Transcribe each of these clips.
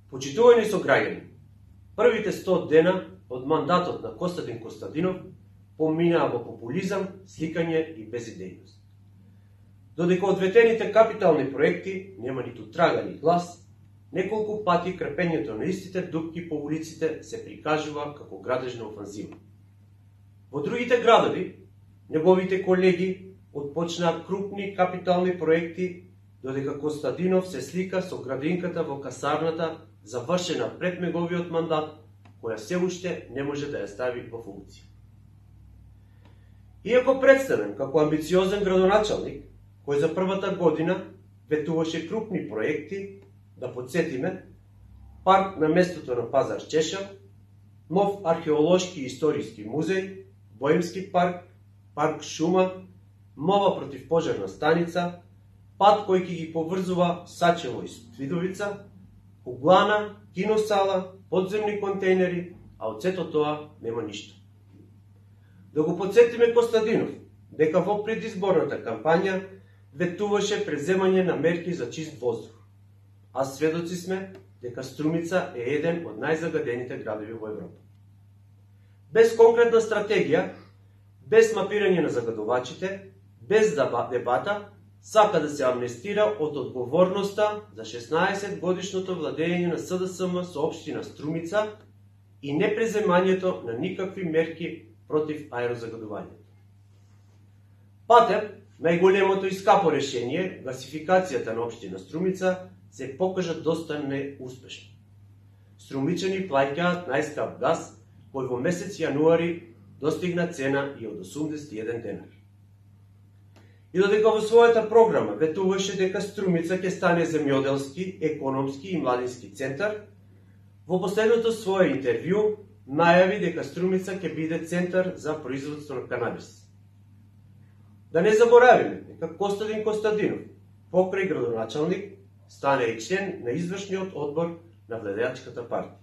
Почитувани сограѓани, првите 100 дена од мандатот на Костадин Костадинов поминаа во популизам, сликање и безидејност. Додека одветените капитални проекти нема ниту трага ни глас, неколку пати крпењето на истите дупки по улиците се прикажува како градежна офанзива. Во другите градови, неговите колеги отпочнаа крупни капитални проекти, додека Костадинов се слика со градинката во касарната, завршена пред неговиот мандат, која се уште не може да ја стави во функција. Иако представен како амбициозен градоначалник, кој за првата година ветуваше крупни проекти, да подсетиме, парк на местото на Пазар Чешел, нов археолошки и историски музеј, Боемски парк, парк Шума, нова противпожарна станица, пат кој ќе ги поврзува Сачево и Свидовица, углана, киносала, подземни контейнери, а од сето тоа нема ништо. Да го подсетиме Костадинов, дека во предизборната кампања ветуваше преземање на мерки за чист воздух, а сведоци сме дека Струмица е еден од најзагадените градови во Европа. Без конкретна стратегија, без мапирање на загадувачите, без дебата, сака да се амнестира од одговорноста за 16 годишното владење на СДСМ со општина Струмица и непреземањето на никакви мерки против аерозагадувањето. Патев, најголемото и скапо решение, гасификацијата на општина Струмица, се покажа доста неуспешно. Струмичани плаќаат најскап газ, кој во месец јануари достигна цена и од 81 денар. И додека во својата програма ветуваше дека Струмица ќе стане земјоделски, економски и младински центар, во последното свое интервју најави дека Струмица ќе биде центар за производство на канабис. Да не заборавиме дека Костадин Костадинов, покрај градоначалник, стане и член на извршниот одбор на владеачката партија.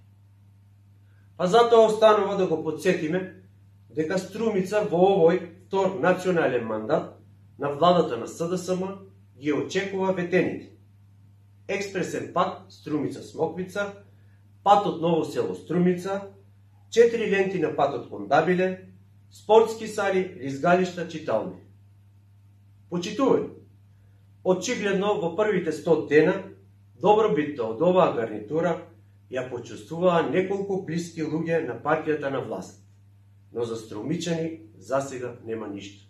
А затоа останува да го подсетиме дека Струмица во овој втор национален мандат на владата на СДСМ ги очекува ветените. Експресен пат Струмица-Смоквица, патот Ново село Струмица, 4 ленти на патот кон Дабиле, спортски сали, лизгалишта, читални. Почитување, очигледно во првите 100 дена добробитта од оваа гарнитура ја почувствуваа неколку блиски луѓе на партијата на власт, но за струмичани засега нема ништо.